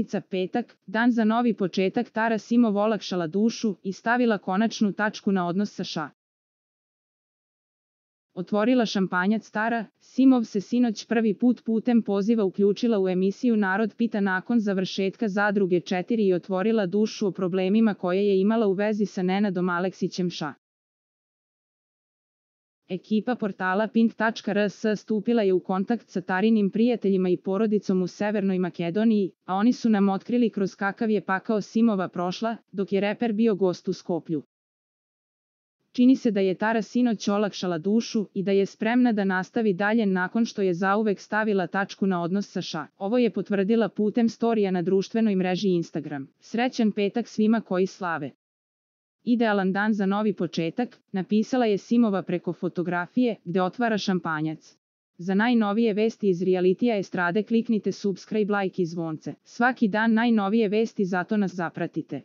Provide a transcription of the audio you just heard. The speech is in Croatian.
Sjenica petak, dan za novi početak. Tara Simov olakšala dušu i stavila konačnu tačku na odnos sa Ša. Otvorila šampanjac. Tara Simov se sinoć prvi put putem poziva uključila u emisiju Narod pita nakon završetka Zadruge 4 i otvorila dušu o problemima koje je imala u vezi sa Nenadom Aleksićem Ša. Ekipa portala Pink.rs stupila je u kontakt sa Tarinim prijateljima i porodicom u Severnoj Makedoniji, a oni su nam otkrili kroz kakav je pakao Simova prošla, dok je reper bio gost u Skoplju. Čini se da je Tara sinoć olakšala dušu i da je spremna da nastavi dalje nakon što je zauvek stavila tačku na odnos sa Ša. Ovo je potvrdila putem storija na društvenoj mreži Instagram. Srećan petak svima koji slave. Idealan dan za novi početak, napisala je Simova preko fotografije gde otvara šampanjac. Za najnovije vesti iz realitija estrade kliknite subscribe, like i zvonce. Svaki dan najnovije vesti, zato nas zapratite.